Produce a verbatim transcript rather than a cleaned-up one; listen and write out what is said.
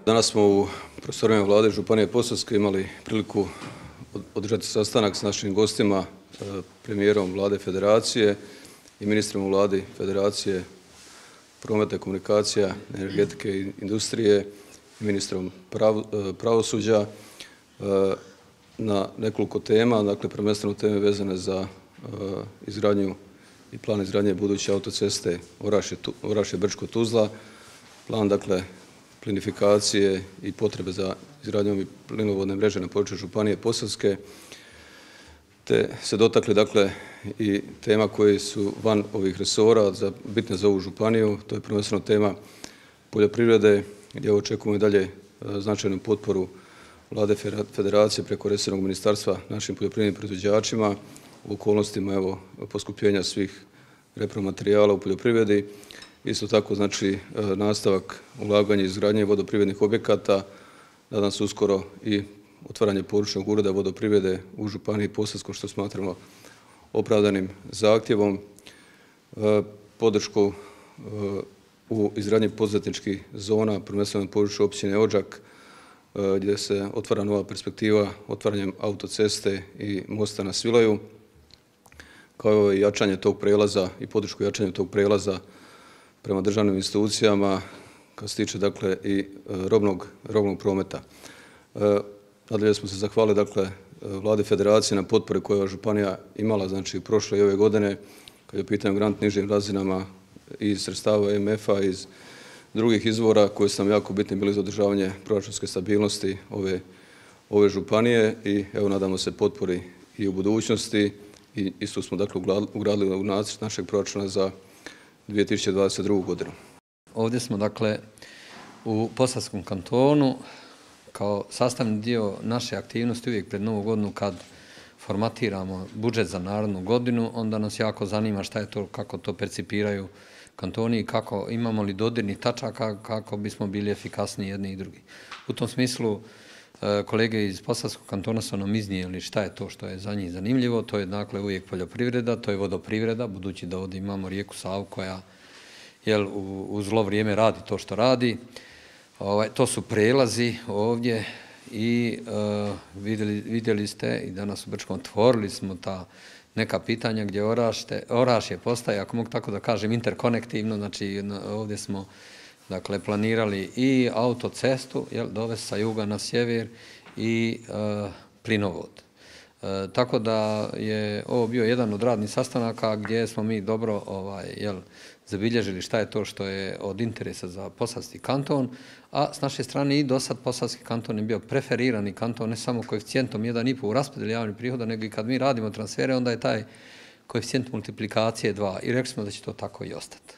Danas smo u prostorima Vlade Županije Posavske imali priliku održati sastanak s našim gostima, premijerom Vlade Federacije i ministrom u Vladi Federacije prometa i komunikacija, energetike i industrije i ministrom pravosuđa na nekoliko tema, dakle prvenstveno teme vezane za izgradnju i plan izgradnje buduće autoceste Orašje-Brčko-Tuzla, plan dakle plinifikacije i potrebe za izgradnjom plinovodne mreže na području Županije Posavske, te se dotakli dakle i tema koje su van ovih resora, bitne za ovu županiju. To je prvenstveno tema poljoprivrede, gdje očekujemo i dalje značajnu potporu Vlade Federacije preko resornog ministarstva našim poljoprivrednim proizvođačima u okolnostima evo poskupljenja svih repromaterijala u poljoprivredi. Isto tako znači nastavak ulaganja i izgradnje vodoprivrednih objekata, nadam se uskoro i otvaranje područnog ureda vodoprivrede u Županiji Posavskoj, što smatramo opravdanim zahtjevom, podršku u izgradnji poduzetničkih zona, prvenstveno na području općine Odžak, gdje se otvara nova perspektiva otvaranjem autoceste i mosta na Svilaju, kao i jačanje tog prelaza i podršku jačanju tog prelaza prema državnim institucijama kad se tiče dakle i robnog, robnog prometa. Nadalje smo se zahvalili dakle Vladi Federacije na potpori koju je županija imala znači prošle i ove godine kad je u pitanju grant nižim razinama iz sredstava E M F-a, iz drugih izvora koji su nam jako bitni bili za održavanje proračunske stabilnosti ove, ove županije i evo nadamo se potpori i u budućnosti i isto smo dakle ugradili u nacrt našeg proračuna za dvije tisuće dvadeset drugu. godinu. Ovdje smo dakle u Posavskom kantonu kao sastavni dio naše aktivnosti uvijek pred Novu godinu kad formatiramo budžet za narednu godinu, onda nas jako zanima šta je to, kako to percipiraju kantoni i kako imamo li dodirnih tačaka kako bismo bili efikasniji jedni i drugi. U tom smislu kolege iz Posavskog kantona su nam iznijeli šta je to što je za njih zanimljivo. To je dakle uvijek poljoprivreda, to je vodoprivreda, budući da ovdje imamo rijeku Savu koja jel, u zlo vrijeme radi to što radi. Ovaj, to su prelazi ovdje i uh, vidjeli, vidjeli ste i danas u Brčkom otvorili smo ta neka pitanja gdje Orašje, Orašje postaje, ako mogu tako da kažem, interkonektivno. Znači ovdje smo dakle planirali i autocestu, jel, dovesti sa juga na sjever i uh, plinovod. Uh, tako da je ovo bio jedan od radnih sastanaka gdje smo mi dobro ovaj, jel, zabilježili šta je to što je od interesa za Posavski kanton, a s naše strane i do sad Posavski kanton je bio preferirani kanton, ne samo koeficijentom jedan i pol u raspodjeli javnih prihoda, nego i kad mi radimo transfere, onda je taj koeficijent multiplikacije dva i rekli smo da će to tako i ostati.